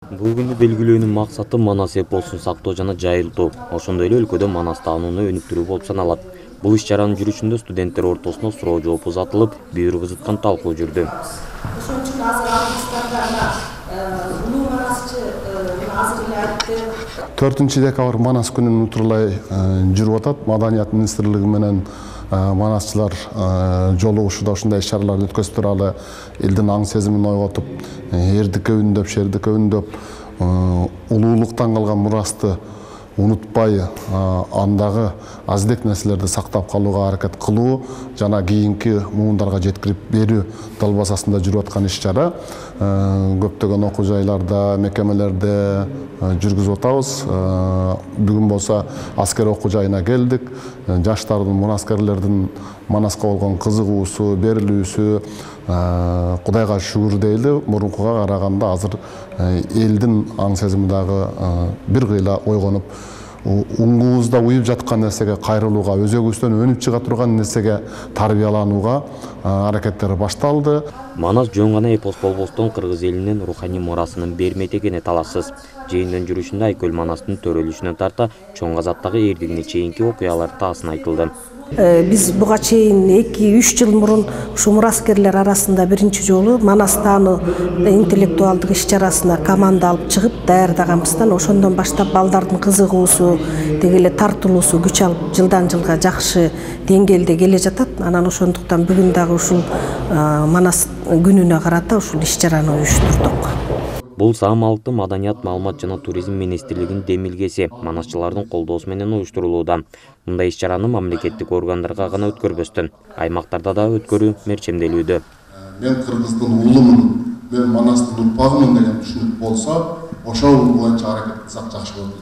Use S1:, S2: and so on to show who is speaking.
S1: Бул күндү белгилөөнүн максаты Манас эпосун сактоо жана жайылтуу. Ошондой эле өлкөдө Манас таанууну өнүктүрүү болуп саналат. Бул иш-чаранын жүрүшүндө студенттер ортосуна суроо жооп узатылып, бүйүр кызыткан талкуу жүрдү.
S2: Ошон үчүн азыр артисттарга улуу манасчы азыр айтты.
S3: 4-декабрь Манас күнүн утурлай жүрүп атат. Маданият министрлиги менен манасчылар жолугушууда ушундай иш-чараларды өткөзүп туралы элдин аң сезимин ойготуп, эрдикке үндөп, шердикке үндөп, улуулуктан калган мурасты унутпай, андагы аздек нерселерди сактап калууга аракет кылуу жана кийинки муундарга жеткирип берүү далбасасында жүрүп аткан иш-чара. Көптөгөн окуу жайларда, мекемелерде жүргүзүп атабыз. Бүгүн болсо аскер окуу жайына келдик. Жаштардын, мунаскерлердин Манаска болгон кызыгуусу, берилүүсү Кудайга шүгүр дейли, мурункуга караганда азыр элдин аң сезими дагы бир кыйла ойгонуп, уңгубузда уюп жаткан нерсеге кайрылууга, өзөгүбүздөн өнүп чыга турган нерсеге тарбияланууга аракеттер башталды.
S1: Манас жөн гана эпос болбостон кыргыз элинин руханий мурасынын бермек экени талашсыз. Жыйындын жүрүшүндө Айкөл Манастын төрөлүшүнө тарта чоң казаттагы эрдигине чейинки окуялар таасын айтылды.
S2: Биз буга чейин 2-3 жыл мурун ушу мураскерлер арасында биринчи жолу Манас таануу интеллектуалдык иш-чарасына команда алып чыгып даярдаганбыздан ошондон баштап балдардын кызыгуусу, деги эле тартылуусу күч алып жылдан жылга жакшы деңгээлде келе жатат. Анан ошондуктан бүгүн дагы ушул Манас күнүнө карата ушул иш-чараны уюштурдук.
S1: Бул Саамалыкты Маданият, маалымат жана туризм министрлигинин демилгеси манасчылардын колдоосу менен уюштурулууда. Мындай иш-чараны мамлекеттик органдарга гана өткөрбөстөн, аймактарда да өткөрүү мерчемделүүдө.
S3: Мен кыргыздын уулумун, мен Манастын урпагымын деген түшүнүк болсо, ошол боюнча аракет кылсак жакшы болот.